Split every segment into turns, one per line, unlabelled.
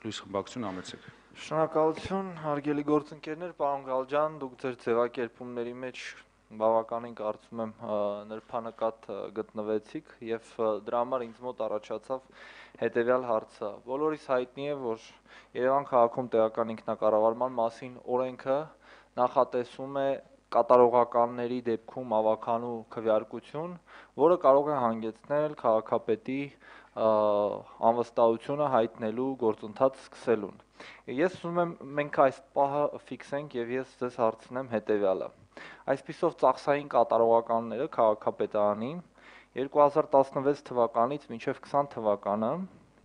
Լույս խմբակցություն ամեցեք։
Շնորհակալություն, հարգելի գործընկերներ, պարոն Գալջան, դուք ձեր ձևակերպումների մեջ բավականին կարծում եմ նրբանկատ գտնվեցիք եւ դրա համար ինձ մոտ առաջացավ հետեւյալ հարցը։ Բոլորիս հայտնի է, որ Երևան քաղաքում տեղական ինքնակառավարման մասին օրենքը նախատեսում է կատարողականների դեպքում ավականու քվեարկություն, որը կարող է հանգեցնել քաղաքապետի անվստահությունը հայտնելու գործընթաց սկսելուն։ Ես ուզում եմ մենք այս պահը ֆիքսենք եւ ես ձեզ հարցնեմ հետեւյալը։ Այսպիսով ծախսային կատարողականները քաղաքապետարանին 2016 թվականից մինչև 20 թվականը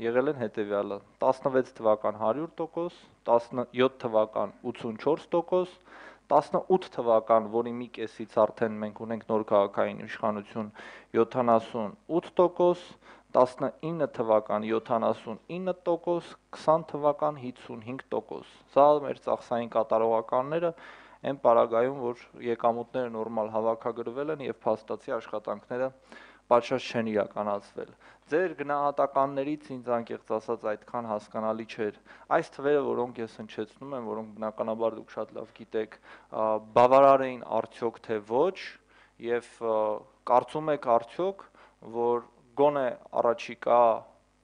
եղել են հետեւյալը. 16 թվական 100%, 17 թվական 84%, 18 թվական, որի մի կեսից արդեն մենք ունենք նոր քաղաքային իշխանություն 78%, 19 թվական 79%, 20 թվական 55%։ Սա մեր ծախսային կատարողականները այն պարագայում, որ եկամուտները նորմալ հավաքագրվել են եւ փաստացի աշխատանքները պատշաճ չեն իրականացվել։ Ձեր գնահատականներից ինձ անկեղծ ասած այդքան հասկանալի չէր։ Այս թվերը, որոնք ես հնչեցնում եմ, որոնք բնականաբար դուք շատ լավ գիտեք, բավարար էին արդյոք թե ոչ, եւ կարծում եք արդյոք, որ գոնե առաջիկա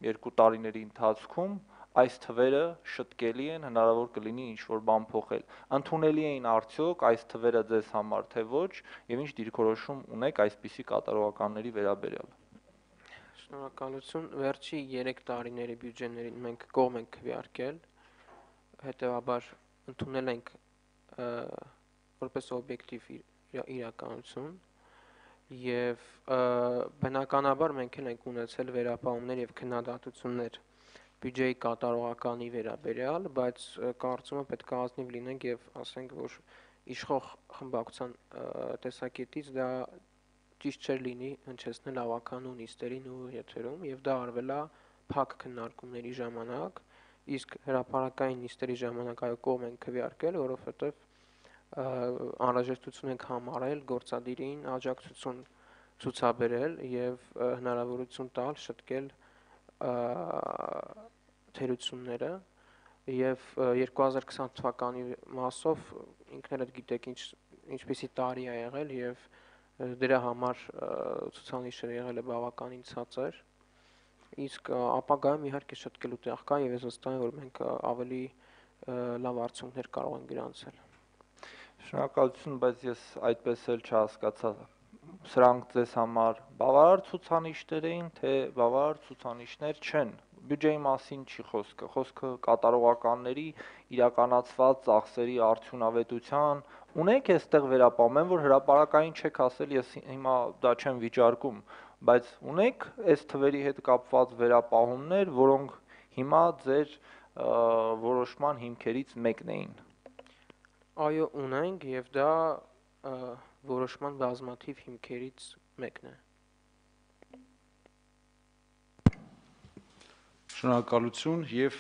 2 տարիների ընթացքում այս թվերը շտկելի են, հնարավոր կլինի ինչ-որ բան փոխել։ Ընդունելի էին արդյոք այս թվերը ձեզ համար, թե ոչ, եւ ինչ դիրքորոշում ունեք այսպիսի կատարողականների վերաբերյալ։
Շնորհակալություն, վերջի 3 տարիների բյուջեներին մենք կողմ ենք քվեարկել, հետեւաբար ընդունել ենք որպես օբյեկտիվ իրականություն եւ բնականաբար մենք ենք ունեցել վերապահումներ եւ քննադատություններ բյուջեի կատարողականի վերաբերյալ, բայց կարծում եմ պետք է ազնիվ լինենք եւ ասենք, որ իշխող խմբակցության տեսակետից դա ճիշտ չէր լինի հնչեցնել ավականու նիստերին ու եթերում եւ դա արվել է փակ քննարկումների ժամանակ, իսկ հրապարակային նիստերի ժամանակ այո կողմ ենք քվեարկել, որովհետեւ անհրաժեշտություն ենք համարել գործադիրին աջակցություն ցուցաբերել եւ հնարավորություն տալ շտկել թերությունները եւ 2020 թվականի մասով ինքներդ գիտեք ինչպիսի տարի է եղել եւ դրա համար ցուցանիշը եղել է բավականին ցածր, իսկ ապագայում իհարկե շտկելու տեղ կա եւ ես վստահ եմ, որ մենք ավելի լավ արդյունքներ կարող ենք գրանցել։
Շնորհակալություն, բայց ես այդպես էլ չհասկացա, սրանք ձեզ համար բավարար ցուցանիշներ էին, թե բավարար ցուցանիշներ չեն։ Բյուջեի մասին չի խոսքը, խոսքը կատարողականների իրականացված ծախսերի արդյունավետության, ունեք այստեղ վերապահում, որ հրապարակային չեք ասել, ես հիմա դա չեմ վիճարկում, բայց ունեք այս թվերի հետ կապված վերապահումներ, որոնք հիմա ձեր որոշման հիմքերից մեկն էին։
Այո, ունենք եւ դա որոշման բազմաթիվ հիմքերից մեկն է։
Շնորհակալություն եւ